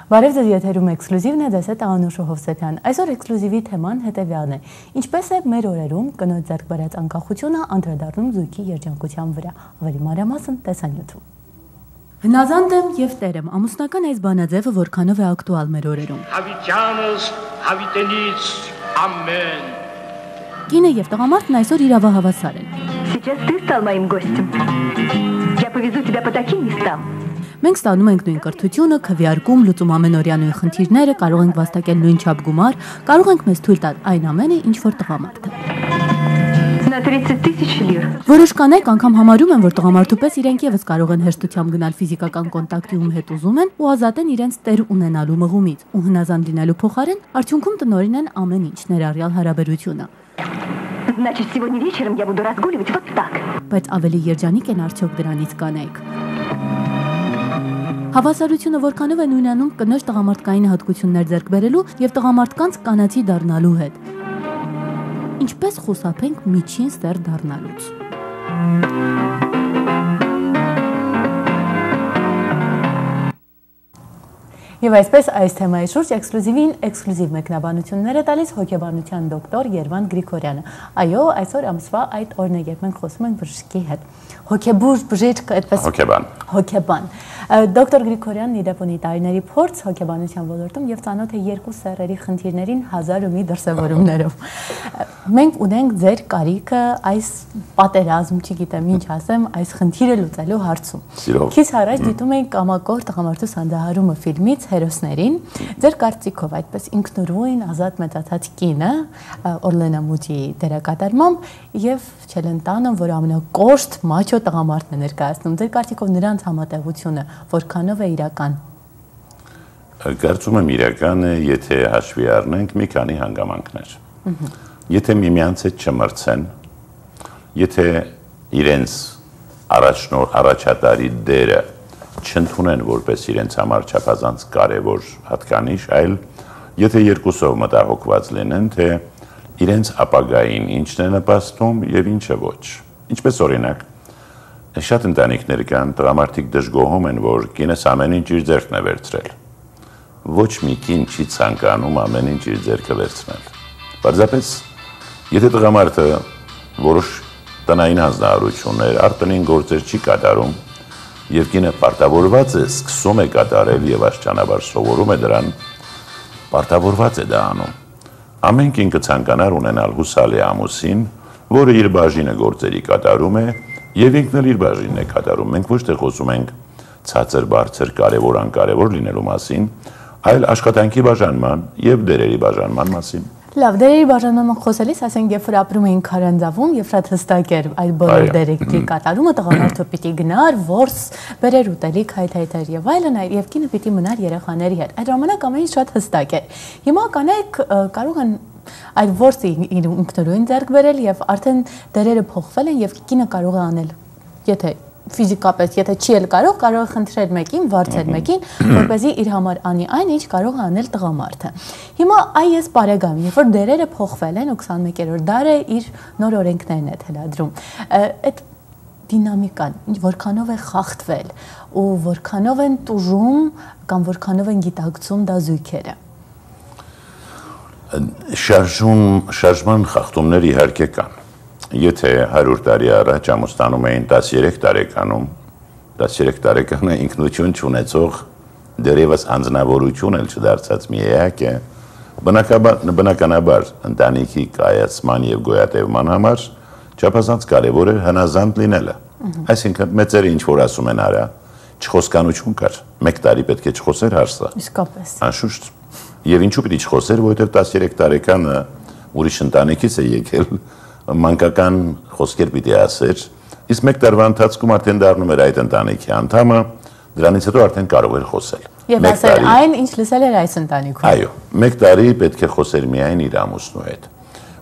Բարև ձեզ, եթերում էքսկլյուզիվն է, ձեզ հետ Անուշ Հովսեփյան։ Այսօր էքսկլյուզիվի թեման հետևյալն է. ինչպես է մեր օրերում կնոջ ձեռք բերած անկախությունը անդրադառնում զույգի երջանկության վրա։ Ավելի մանրամասն տեսանյութում։ Հնազանդ եմ եւ տեր եմ, ամուսնական այս բանաձևը որքանով է ակտուալ մեր օրերում։ Հավիտյանս, հավիտենից, ամեն։ Կինը եւ տղամարդն այսօր իրավահավասար են։ Сейчас ты стал моим гостем. Я повезу тебя по таким местам. Մենք ստանում ենք նույն կրթությունը, քվեարկում, լուծում ամենօրյա նույն խնդիրները, կարող ենք վաստակել նույն չափ գումար, կարող ենք մեզ թույլ տալ այն ամենը, ինչ որ տղամարդը։ На 30 000 лир. Որոշ կանայք անգամ համարում են, որ տղամարդու պես իրենք եւս կարող են հեշտությամբ գնալ ֆիզիկական կոնտակտի ում հետ ուզում են ու ազատեն իրենց տեր ունենալու մղումից, ու հնազանդ լինելու փոխարեն արդյունքում տնօրինեն ամեն ինչ, ներառյալ հարաբերությունը։ Значит, сегодня вечером я буду разгуливать вот так. Բայց ավելի երջանիկ են արդյոք դրանից կանայք։ Հավասարությունը որքանով է նույնանում կնոջ տղամարդկային հատկություններ ձեռք բերելու եւ տղամարդկանց կանացի դառնալու հետ։ Ինչպես խուսափենք միջին ստեր դառնալուց։ Եվ այսպես այս թեմայի շուրջ էքսկլյուզիվ մեկնաբանություններ է տալիս հոգեբանության դոկտոր Երվան Գրիգորյանը։ Այո, այսօր ամսվա այդ օրն է, երբ մենք խոսում ենք բժշկի հետ։ Հոգեբուժ, բժիշկ, այդպես հոգեբան։ Դոկտոր Գրիգորյանն իրապ ունի տարիների փորձ հոգեբանության ոլորտում եւ ծանոթ է երկու սեռերի խնդիրներին հազար ու մի դրսևորումներով։ Մենք ունենք ձեր կարիքը այս պատերազմ, չգիտեմ ինչ ասեմ, այս խնդիրը լուծելու հարցում։ Քիչ առաջ դիտում ենք Կամակոր տղամարդու սանդահարումը ֆիլմից հերոսներին, ձեր կարծիքով այդպես ինքնուրույն ազատ մեծացած կինը Օրլենա Մուտիի դերակատարմամբ եւ Չելենտանոն, որ ամենակոշտ մաչո տղամարդն է ներկայացնում, ձեր կարծիքով նրանց համատեղությունը որքանով է իրական։ Կարծում եմ իրական է, եթե հաշվի առնենք մի քանի հանգամանքներ։ Եթե միմյանց հետ չմրցեն, եթե իրենց առաջատարի դերը չընդունեն որպես իրենց համար չափազանց կարևոր հատկանիշ, այլ եթե երկուսով մտահոգված լինեն, թե իրենց ապագային ինչն է նպաստում եւ ինչը ոչ։ Ինչպես օրինակ, շատ ընտանիքներ կան, տղամարդիկ դժգոհում են, որ կինս ամեն ինչ իր ձեռքն է վերցրել։ Ոչ մի կին չի ցանկանում ամեն ինչ իր ձեռքը վերցնել։ Պարզապես, եթե տղամարդը որոշ տնային հանձնարարություններ, արտոնին գործեր չի կատարում, եւ կինը պարտավորված է սկսում է կատարել եւ աշճանաբար սովորում է դրան, պարտավորված է դա անում։ Ամեն կին կցանկանար ունենալ հուսալի ամուսին, որը իր բաժինը գործերի կատարում է եւ ինքն էլ իր բաժինն է կատարում։ Մենք ոչ թե խոսում ենք ցածր, բարձր, կարևոր, անկարևոր լինելու մասին, այլ աշխատանքի բաժանման եւ դերերի բաժանման մասին։ Լավ, դերերի բաժանման խոսելիս, ասենք, երբ որ ապրում էինք Քարանձավում, եւ շատ հստակ էր այդ բոլոր դերերի կատարումը, տղամարդը պիտի գնար, որս բերեր ուտելիք, հայթայթեր եւ այլն, եւ կինը պիտի մնար երեխաների հետ։ Այդ ժամանակ ամեն ինչ շատ հստակ էր։ Հիմա կանայք կարող են այդ որսը ինքնուրույն ձեռք բերել եւ արդեն դերերը փոխվել են եւ կինը կարող է անել, եթե ֆիզիկապես, եթե չի էլ կարող է խնդրել մեկին, վարձել մեկին, որպեսզի իր համար անի այն, ինչ կարող է անել տղամարդը։ Հիմա այս բարեկամ, երբ որ դերերը փոխվել են ու 21-րդ դարը իր նոր օրենքներն է թելադրում, այդ դինամիկան որքանով է խախտվել ու որքանով են տուժում կամ որքանով են գիտակցում դա զույգերը։ Շարժման խախտումներ իհարկե կան։ Եթե 100 տարի առաջ ամուսնանում էին 13 տարեկանում, 13 տարեկանը ինքնություն չունեցող դերևս անձնավորություն էլ չդարձած մի էակ է, բնականաբար ընտանիքի կայացման եւ գոյատևման համար չափազանց կարևոր է հնազանդ լինելը։ Այսինքն մեծերը ինչ որ ասում են արա, չխոսկանություն կար, 1 տարի պետք է չխոսեր հարցը։ Իսկապես։ Անշուշտ։ Եվ ինչու պիտի չխոսեր, որովհետեւ 13 տարեկանը ուրիշ ընտանիքից է եկել, մանկական խոսքեր պիտի ասեր, իսկ 1 տարվա ընթացքում արդեն դառնում էր այդ ընտանիքի անդամը, դրանից հետո արդեն կարող էր խոսել։ Եվ ասել այն, ինչ լսել էր այս ընտանիքում։ Այո, 1 տարի պետք է խոսեր միայն իր ամուսնու հետ։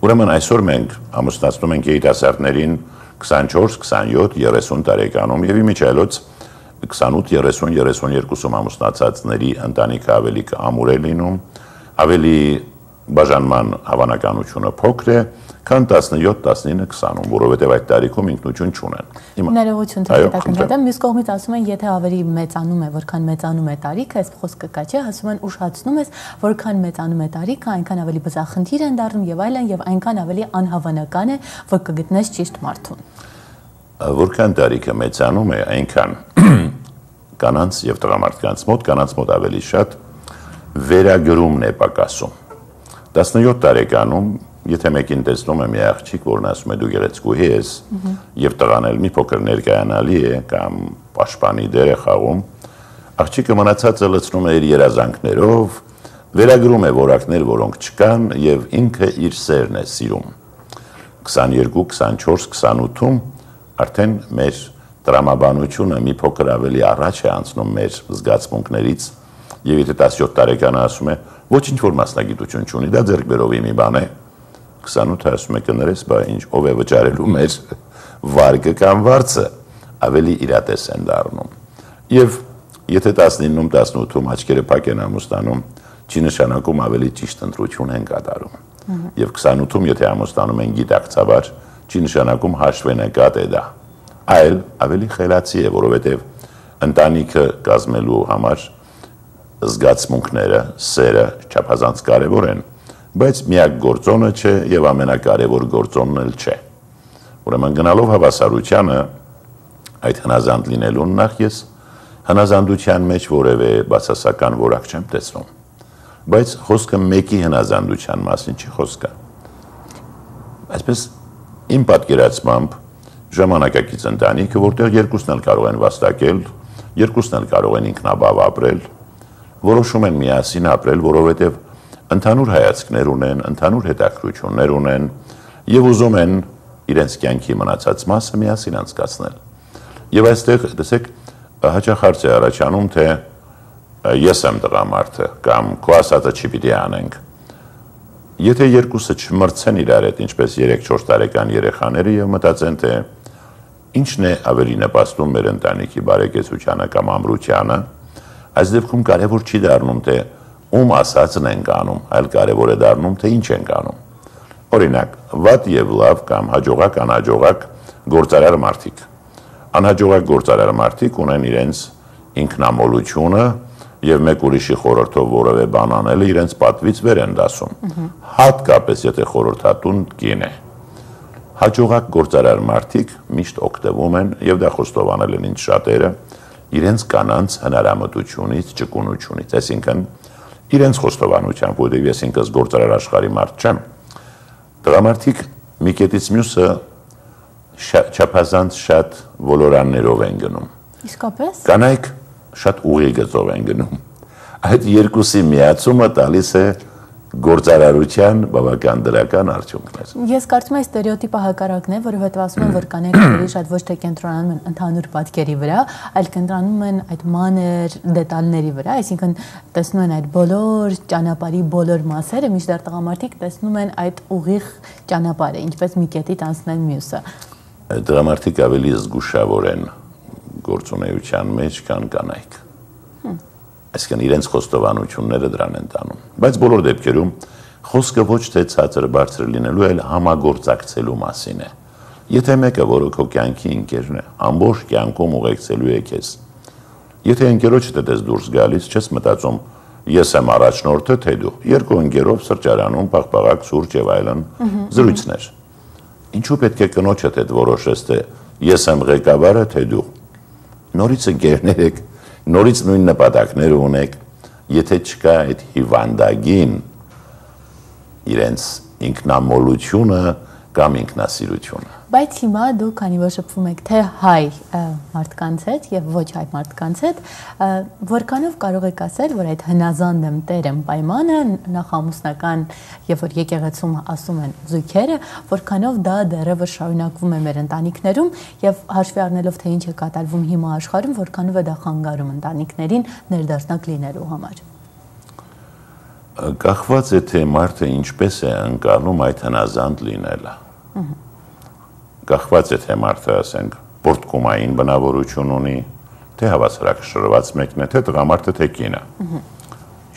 Ուրեմն այսօր մենք ամուսնացնում ենք երիտասարդներին 24, 27, 30 տարեկանում եւ իմիջիայլոց 28, 30, 32-ում ամուսնացածների ընտանիքը ավելի ամուր է լինում, ավելի բաժանման հավանականությունը փոքր է, քան 17-19-20-ում, որովհետև այդ տարիքում ինքնություն չունեն։ Ներողություն թեթակնկատեմ, մյուս կողմից ասում են, եթե ավելի մեծանում է, որքան մեծանում է տարիքը, այս խոսքը կա չէ, ասում են ուշացնում ես, որքան մեծանում է տարիքը, այնքան ավելի բզախնդիր են դառնում եւ այլն, եւ այնքան ավելի անհավանական է, որ կգտնես ճիշտ մարդուն։ Որքան տարիքը մեծանում է, այնքան կանանց եւ տղամարդկանց մոտ ավելի շատ վերագրումն է պակասում։ 17 տարեկանում, եթե մեկին տեսնում է մի աղջիկ, որն ասում է դու գեղեցկուհի ես, եւ տղան էլ մի փոքր ներկայանալի է կամ պաշտպանի դեր է խաղում, աղջիկը մնացածը լցնում է իր երազանքներով, վերագրում է որակներ, որոնք չկան եւ ինքը իր սերն է սիրում։ 22, 24, 28-ում արդեն մեր տրամաբանությունը մի փոքր ավելի առաջ է անցնում մեր զգացմունքներից եւ եթե 17 տարեկանը ասում է ոչինչ որ մասնագիտություն չունի, դա ձեռքբերովի մի բան է, 28-ը ասում է կներես, բա ինչ ով է վճարելու մեր վարկը կամ վարձը, ավելի իրատես են դառնում։ Եվ եթե 19-ում, 18-ում աչքերը փակ են ամուսնանում, չի նշանակում ավելի ճիշտ ընտրություն են կատարում։ Եվ 28-ում, եթե ամուսնանում են գիտակցաբար, չի նշանակում հաշվենկատ է դա, այլ ավելի խելացի է, որովհետև ընտանիքը կազմելու համար զգացմունքները, սերը չափազանց կարևոր են, բայց միակ գործոնը չէ եւ ամենակարևոր գործոնն էլ չէ։ Ուրեմն գնալով հավասարությանը այդ հնազանդ լինելուն նախ ես հնազանդության մեջ որևէ բացասական որակ չեմ տեսնում, բայց խոսքը մեկի հնազանդության մասին չի խոսքը։ Այսպես իմ պատկերացմամբ ժամանակակից ընտանիքը, որտեղ երկուսն էլ կարող են վաստակել, երկուսն էլ կարող են ինքնաբավ ապրել, որոշում են միասին ապրել, որովհետև ընդհանուր հայացքներ ունեն, ընդհանուր հետաքրքրություններ ունեն եւ ուզում են իրենց կյանքի մնացած մասը միասին անցկացնել։ Եվ այստեղ տեսեք հաճախ հարց է առաջանում, թե ես եմ տղամարդը կամ քո ասածը չի պիտի անենք։ Եթե երկուսը չմրցեն իրար հետ, ինչպես 3-4 տարեկան երեխաները եւ մտածեն, թե ինչն է ավելի նպաստում մեր ընտանիքի բարեկեցությանը կամ ամրությանը, այս դեպքում կարևոր չի դառնում, թե ում ասածն ենք անում, այլ կարևոր է դառնում, թե ինչ ենք անում։ Օրինակ, վատ եւ լավ կամ հաջողակ, անհաջողակ գործարար մարդիկ։ Անհաջողակ գործարար մարդիկ ունեն իրենց ինքնամոլությունը եւ մեկ ուրիշի խորհրդով որևէ բան անելը իրենց պատվից վեր են դասում։ Հատկապես եթե խորհրդատուն կին է։ Հաջողակ գործարար մարդիկ միշտ օգտվում են եւ դա խոստովանել են ինձ շատերը իրենց կանանց հնարամտությունից, ճկունությունից, այսինքն իրենց խոստովանությամբ, որովհետև ես ինքս գործարար աշխարհի մարդ չեմ։ Տղամարդիկ մի կետից մյուսը չափազանց շատ ոլորաններով են գնում։ Իսկապես։ Կանայք շատ ուղիղ գծով են գնում։ Այդ երկուսի միացումը տալիս է գործարարության բավական դրական արդյունքներ։ Ես կարծում եմ ստերեոտիպը հակառակն է, որովհետև ասում են, որ կանայք ավելի շատ ոչ թե կենտրոնանում են ընդհանուր պատկերի վրա, այլ կենտրոնանում են այդ մանր դետալների վրա, այսինքն տեսնում են այդ բոլոր ճանապարհի բոլոր մասերը, մինչդեռ տղամարդիկ տեսնում են այդ ուղիղ ճանապարհը, ինչպես մի կետից անցնել մյուսը։ Տղամարդիկ ավելի զգուշավոր են գործունեության մեջ, քան կանայք։ Այսինքն իրենց խոստովանությունները դրան են տանում։ Բայց բոլոր դեպքերում խոսքը ոչ թե ցածր բարձր լինելու, այլ համագործակցելու մասին է։ Եթե մեկը, որը քո կյանքի ընկերն է, ամբողջ կյանքում ուղեկցելու է քեզ։ Եթե ընկերոջդ ես դուրս գալիս, չես մտածում ես եմ առաջնորդը, թե դու։ Երկու ընկերով սրճարանում պաղպաղակ սուրճ եւ այլն զրույցներ։ Ինչու պետք է կնոջդ հետ որոշես, թե ես եմ ղեկավարը, թե դու։ Նորից ընկերներ եք, նորից նույն նպատակները ունեք, եթե չկա այդ հիվանդագին իրենց ինքնամոլությունը կամ ինքնասիրությունը։ Բայց հիմա դու քանի որ շփվում եք թե հայ մարդկանց հետ եւ ոչ հայ մարդկանց հետ, որքանով կարող եք ասել, որ այդ հնազանդ եմ, տեր եմ պայմանը նախամուսնական, երբ որ եկեղեցում ասում են զույգերը, որքանով դա դեռևս շարունակվում է մեր ընտանիքներում եւ հաշվի առնելով թե ինչ է կատարվում հիմա աշխարհում, որքանով է դա խանգարում ընտանիքներին ներդաշնակ լինելու համար։ Կախված է թե մարդը ինչպես է ընկալում այդ հնազանդ լինելը։ Կախված է թե մարդը, ասենք, պորտկումային բնավորություն ունի, թե հավասարակշռված մեկն է, թե տղամարդը, թե կինը։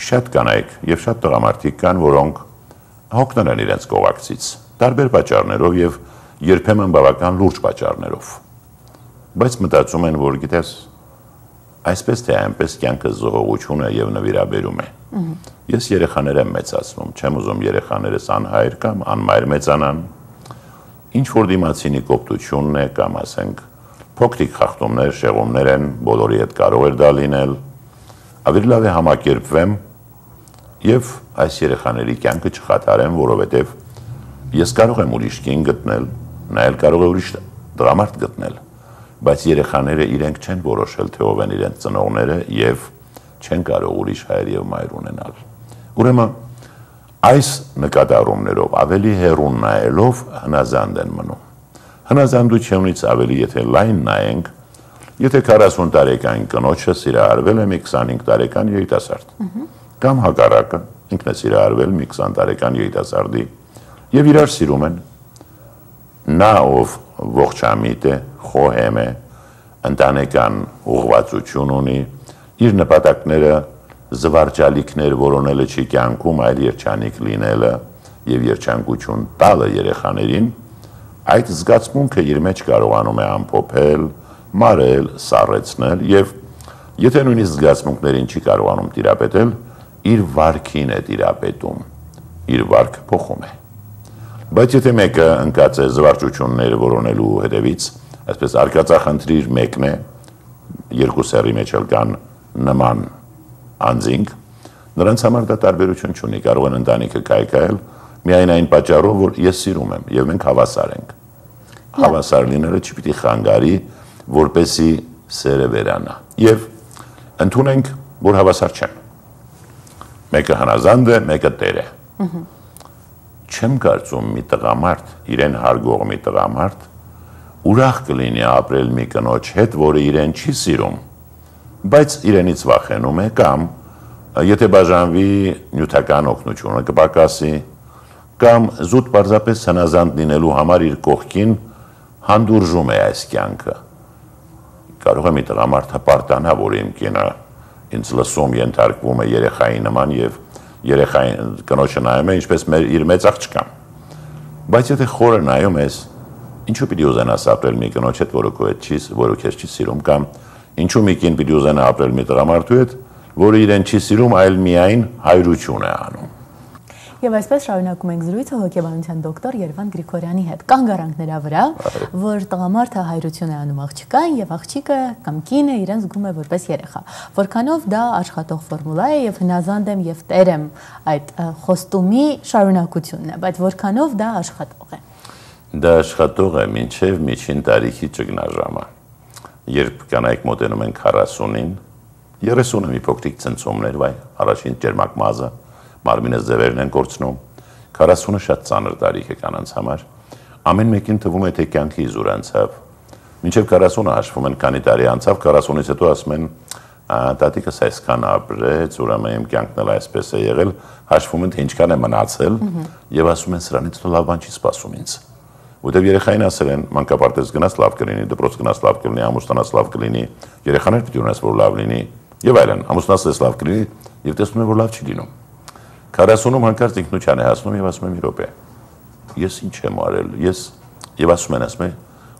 Շատ կանայք եւ շատ տղամարդիկ կան, որոնք հոգնել են իրենց կողակցից, տարբեր պատճառներով եւ երբեմն բավական լուրջ պատճառներով։ Բայց մտածում են, որ գիտես, այսպես թե այնպես կյանքը զողողություն է եւ նվիրաբերում է։ Ես երեխաներ եմ մեծացնում, չեմ ուզում երեխաներս անհայր կամ անմայր մեծանան։ Ինչ որ դիմացինի կոպտությունն է կամ ասենք փոքրիկ խախտումներ, շեղումներ են, բոլորի հետ կարող էր դա լինել։ Ավելի լավ է համակերպվեմ եւ այս երեխաների կյանքը չխաթարեմ, որովհետեւ ես կարող եմ ուրիշ կին գտնել, նա էլ կարող է ուրիշ դրամարդ գտնել, բայց երեխաները իրենք չեն որոշել, թե ով են իրենց ծնողները եւ չեն կարող ուրիշ հայր եւ մայր ունենալ։ Ուրեմն այս նկատառումներով ավելի հեռուն նայելով հնազանդ են մնում։ Հնազանդությունից ավելի եթե լայն նայենք, եթե 40 տարեկան կնոջը սիրահարվել է մի 25 տարեկան երիտասարդ, կամ հակառակը, ինքն է սիրահարվել մի 20 տարեկան երիտասարդի եւ իրար սիրում են, նա ով ողջամիտ է, խոհեմ է, ընտանեկան ուղղվածություն ունի, իր նպատակները զվարճալիքներ որոնելը չի կյանքում, այլ երջանիկ լինելը եւ երջանկություն տալը երեխաներին, այդ զգացմունքը իր մեջ կարողանում է ամփոփել, մարել, սառեցնել եւ եթե նույնիսկ զգացմունքներին չի կարողանում տիրապետել, իր վարքին է տիրապետում, իր վարքը փոխում է։ Բայց եթե մեկը ընկած է զվարճություններ որոնելու հետևից, այսպես արկածախնդիր մեկն է, երկու սեռի մեջ էլ կան նման անձինք, նրանց համար դա տարբերություն չունի, կարող են ընտանիքը կայքայել միայն այն պատճառով, որ ես սիրում եմ եւ մենք հավասար ենք։ Հավասար լինելը չպիտի խանգարի, որպեսի սերը վերանա։ Եվ ընդունենք, որ հավասար չեն։ Մեկը հնազանդ է, մեկը տեր է։ Չեմ կարծում մի տղամարդ, իրեն հարգող մի տղամարդ, ուրախ կլինի ապրել մի կնոջ հետ, որը իրեն չի սիրում, բայց իրենից վախենում է կամ եթե բաժանվի նյութական օգնությունը կպակասի, կամ զուտ պարզապես հնազանդ լինելու համար իր կողքին հանդուրժում է այս կյանքը։ Կարող է մի տղամարդ հպարտանա, որ իմ կինը ինձ լսում ենթարկվում է երեխայի նման եւ երեխային կնոջը նայում է ինչպես իր մեծ աղջկան։ Բայց եթե խորը նայում ես, ինչու պիտի ուզենաս ապրել մի կնոջ հետ, որը քեզ չի սիրում, կամ ինչու մի կին պիտի ուզենա ապրել մի տղամարդու հետ, որը իրեն չի սիրում, այլ միայն հայրություն է անում։ Եվ այսպես շարունակում ենք զրույցը հոգեբանության դոկտոր Երվան Գրիգորյանի հետ։ Կանգ առանք նրա վրա, որ տղամարդը հայրություն է անում աղջկան եւ աղջիկը կամ կինը իրեն զգում է որպես երեխա։ Որքանով դա աշխատող ֆորմուլա է եւ հնազանդ եմ եւ տեր եմ այդ խոստումի շարունակությունն է, բայց որքանով դա աշխատող է։ Դա աշխատող է մինչեւ միջին տարիքի ճգնաժամը։ Երբ կանայք մոտենում են 40-ին, 30-ը մի փոքրիկ ցնցումներ, վայ, առաջին ջերմակ մազը մարմինը ձևերն են կորցնում, 40-ը շատ ծանր տարիք է կանանց համար, ամեն մեկին թվում է, թե կյանքի իզուր անցավ, մինչև 40-ը հաշվում են, քանի տարի անցավ, 40-ից հետո ասում են, տատիկս այսքան ապրեց, ուրեմն իմ կյանքն էլ այսպես է եղել, հաշվում են, թե ինչքան է մնացել, եւ ասում են, սրանից հետո լավ բան չի սպասում ինձ։ Որտեւ երեխային ասել են, մանկապարտեզ գնաց լավ կլինի, դպրոց գնաց լավ կլինի, ամուսնանաց լավ կլինի, երեխաներ պիտի ունես, որ լավ լինի, եւ այլն, ամուսնացես լավ կլինի, եւ տեսնում են, որ լավ չի լինում։ 40-ում հանկարծ ինքնության է հասնում եւ ասում եմ՝ մի րոպե։ Ես ինչ եմ արել։ Ես եւ ասում են,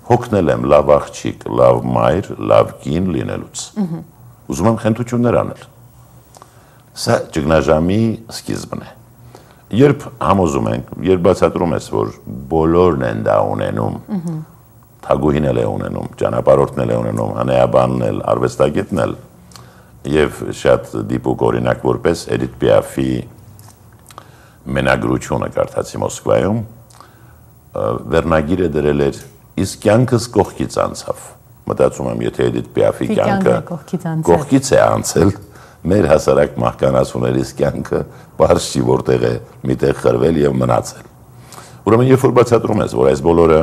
հոգնել եմ լավ աղջիկ, լավ մայր, լավ կին լինելուց։ Ուզում եմ խնդություններ անել։ Սա ճգնաժամի սկիզբն է։ Երբ համոզում ենք, երբ բացատրում ես, որ բոլորն են դա ունենում, թագուհին էլ է ունենում, ճանապարհորդն էլ է ունենում, հնեաբանն էլ, արվեստագետն էլ, եւ շատ դիպուկ օրինակ որպես Էդիթ Պիաֆի մենագրությունը կարդացի Մոսկվայում, վերնագիրը դրել էր իսկ կյանքս կողքից անցավ։ Մտածում եմ, եթե Էդիթ Պիաֆի կյանքը կողքից է անցել, մեր հասարակ մահկանացուներիս կյանքը բարձ չի որտեղ է միտեղ խրվել եւ մնացել։ Ուրեմն երբ որ բացատրում ես, որ այս բոլորը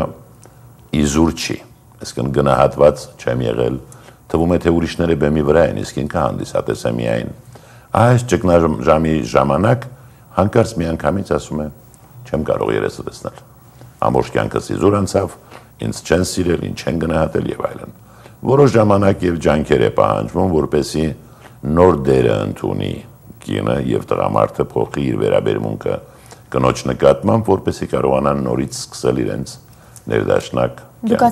իզուր չի, այսինքն գնահատված չեմ եղել, թվում է թե ուրիշները բեմի վրա են, իսկ ինքը հանդիսատես է միայն։ Այս ճգնաժամի ժամանակ հանկարծ միանգամից ասում է, չեմ կարող երեսը տեսնել։ Ամբողջ կյանքս իզուր անցավ, ինձ չեն սիրել, ինձ չեն գնահատել եւ այլն։ Որոշ ժամանակ եւ ջանքեր է պահանջվում, որպեսզի նոր դերը ընդունի կինը եւ տղամարդը փոխի իր վերաբերմունքը կնոջ նկատմամբ, որպեսզի կարողանան նորից սկսել իրենց ներդաշնակ Դուք